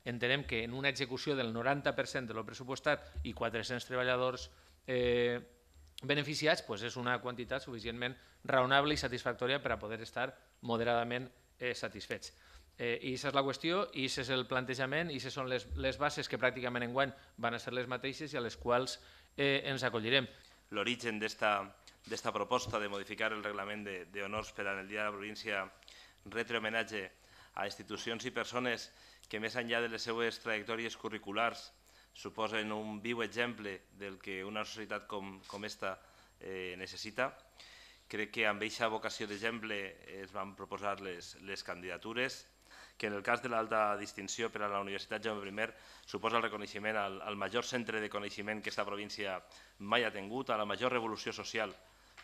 entenem que en una execució del 90% de lo pressupostat i 400 treballadors beneficiats, doncs és una quantitat suficientment raonable i satisfactòria per a poder estar moderadament satisfets. I aquesta és la qüestió, i aquest és el plantejament, i aquestes són les bases que pràcticament enguany van a ser les mateixes i a les quals ens acollirem. L'origen d'esta proposta de modificar el reglament d'honors per al Dia de la Província retre homenatge a institucions i persones que més enllà de les seues trajectòries curriculars suposen un viu exemple del que una societat com esta necessita. Crec que amb aquesta vocació d'exemple es van proposar les candidatures, que en el cas de l'alta distinció per a la Universitat Jaume I suposa el reconeixement al major centre de coneixement que aquesta província mai ha tingut, a la major revolució social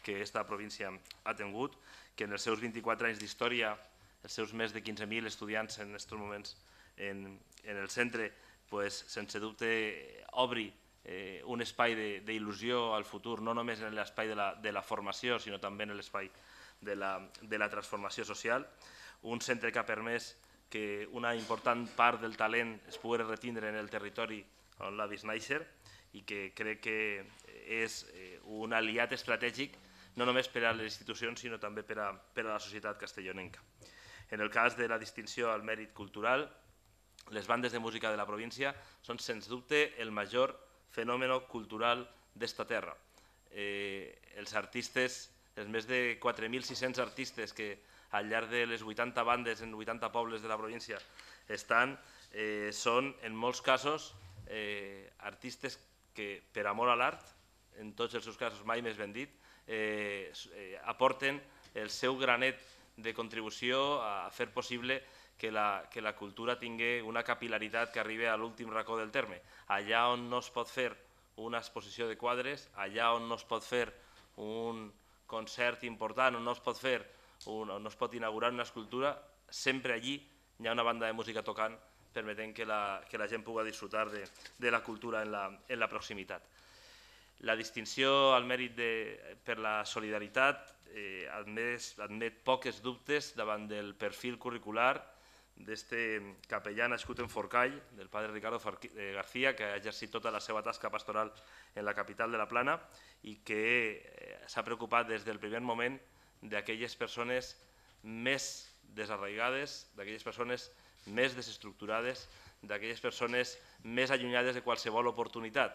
que aquesta província ha tingut, que en els seus 24 anys d'història, els seus més de 15.000 estudiants en aquests moments en el centre, sense dubte obri un espai d'il·lusió al futur, no només en l'espai de la formació, sinó també en l'espai de la transformació social. Un centre que ha permès que una important part del talent es pugui retindre en el territori on l'ha vist néixer i que crec que és un aliat estratègic no només per a les institucions sinó també per a la societat castellonenca. En el cas de la distinció al mèrit cultural, les bandes de música de la província són sens dubte el major fenomen cultural d'esta terra. Els artistes, els més de 4.600 artistes que al llarg de les 80 bandes en 80 pobles de la província estan, són en molts casos artistes que per amor a l'art, en tots els seus casos mai més ben dit, aporten el seu granet de contribució a fer possible que la cultura tingui una capil·laritat que arribi a l'últim racó del terme. Allà on no es pot fer una exposició de quadres, allà on no es pot fer un concert important, on no es pot fer on no es pot inaugurar una escultura, sempre allí hi ha una banda de música tocant permetent que la gent pugui disfrutar de la cultura en la proximitat. La distinció al mèrit per la solidaritat admet poques dubtes davant del perfil curricular d'aquest capellà nascut en Forcall, del padre Ricardo García, que ha exercit tota la seva tasca pastoral en la capital de la Plana i que s'ha preocupat des del primer moment d'aquelles persones més desarraigades, d'aquelles persones més desestructurades, d'aquelles persones més allunyades de qualsevol oportunitat,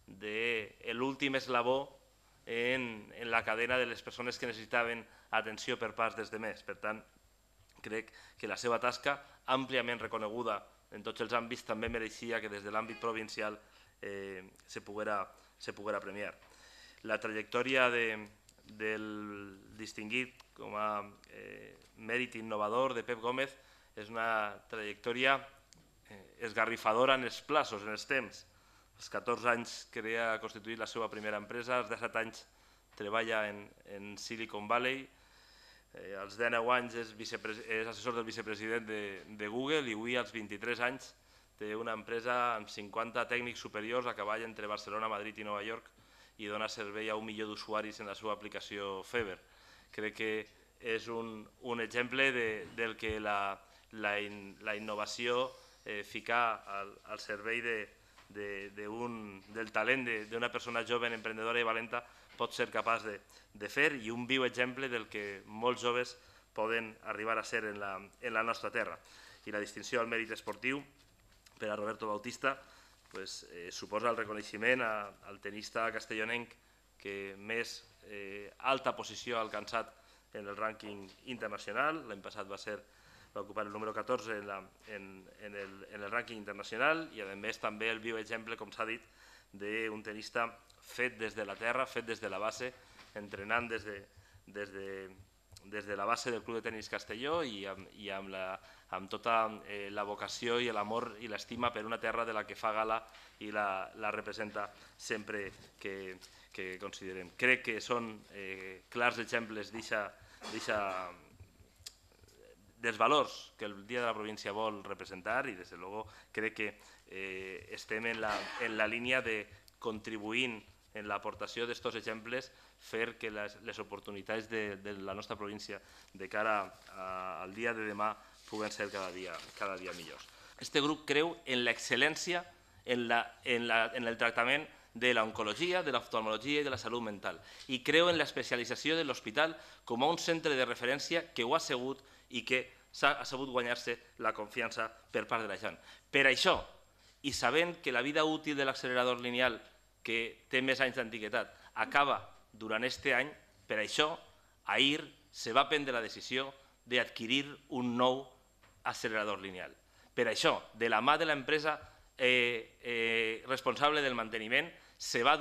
de l'últim eslabó en la cadena de les persones que necessitaven atenció per part dels demés. Per tant, crec que la seva tasca, àmpliament reconeguda en tots els àmbits, també mereixia que des de l'àmbit provincial se poguera premiar. La trajectòria del distingit com a mèrit innovador de Pep Gómez és una trajectòria esgarrifadora en els plaços, en els temps. Als 14 anys ha constituït la seva primera empresa, als 17 anys treballa en Silicon Valley, als 19 anys és assessor del vicepresident de Google i avui als 23 anys té una empresa amb 50 tècnics superiors a cavall entre Barcelona, Madrid i Nova York i dona servei a 1 milió d'usuaris en la seva aplicació Feber. Crec que és un exemple del que la innovació, ficar al servei del talent d'una persona jove, emprendedora i valenta pot ser capaç de fer i un viu exemple del que molts joves poden arribar a ser en la nostra terra. I la distinció al mèrit esportiu per a Roberto Bautista suposa el reconeixement al tenista castellonenc que més alta posició ha alcançat en el rànquing internacional. L'any passat va ocupar el número 14 en el rànquing internacional i a més també el viu exemple, com s'ha dit, d'un tenista fet des de la terra, fet des de la base, entrenant des de la base del Club de Tenis Castelló i amb tota la vocació i l'amor i l'estima per una terra de la que fa gala i la representa sempre que considerem. Crec que són clars exemples dels valors que el Dia de la Província vol representar i, des de luego, crec que estem en la línia de contribuint en l'aportació d'aquests exemples fer que les oportunitats de la nostra província de cara al dia de demà puguen ser cada dia millors. este grup creu en l'excel·lència en el tractament de l'oncologia, de l'oftalmologia i de la salut mental. I creu en l'especialització de l'hospital com a un centre de referència que ho ha sigut i que ha sabut guanyar-se la confiança per part de la gent. Per això, i sabent que la vida útil de l'accelerador lineal, que té més anys d'antiguitat, acaba durant aquest any, per això, ahir se va prendre la decisió d'adquirir un nou accelerador lineal. Per això, de la mà de l'empresa responsable del manteniment, se va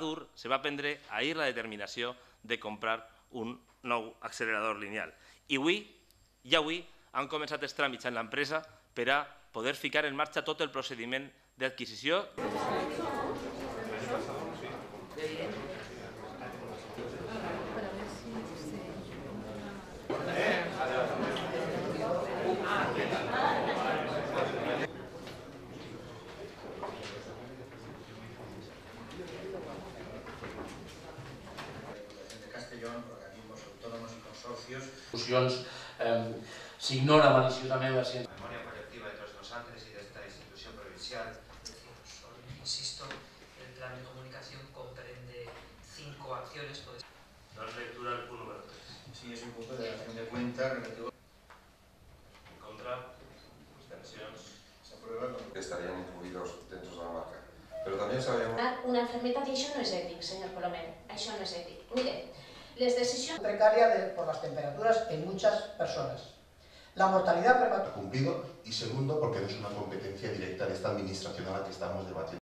prendre ahir la determinació de comprar un nou accelerador lineal. I avui han començat els tràmits en l'empresa per a poder ficar en marxa tot el procediment d'adquisició. Organismos autónomos y consorcios. Se ignora maliciosamente la ciencia. La memoria colectiva de los Ángeles y de esta institución provincial. Insisto, el plan de comunicación comprende 5 acciones. Dar lectura al punto número 3. Sí, es un punto de relación de cuentas relativo. En contra, abstencions. Se aprueba con... que estarían incluidos dentro de la marca. Pero también sabemos... Una enfermedad, y això no és ètic, señor Colomer, això no és ètic. Mire, les decisions... precaria por las temperaturas en muchas personas. La mortalidad prematura... cumplido y segundo porque no es una competencia directa de esta administración a la que estamos debatiendo.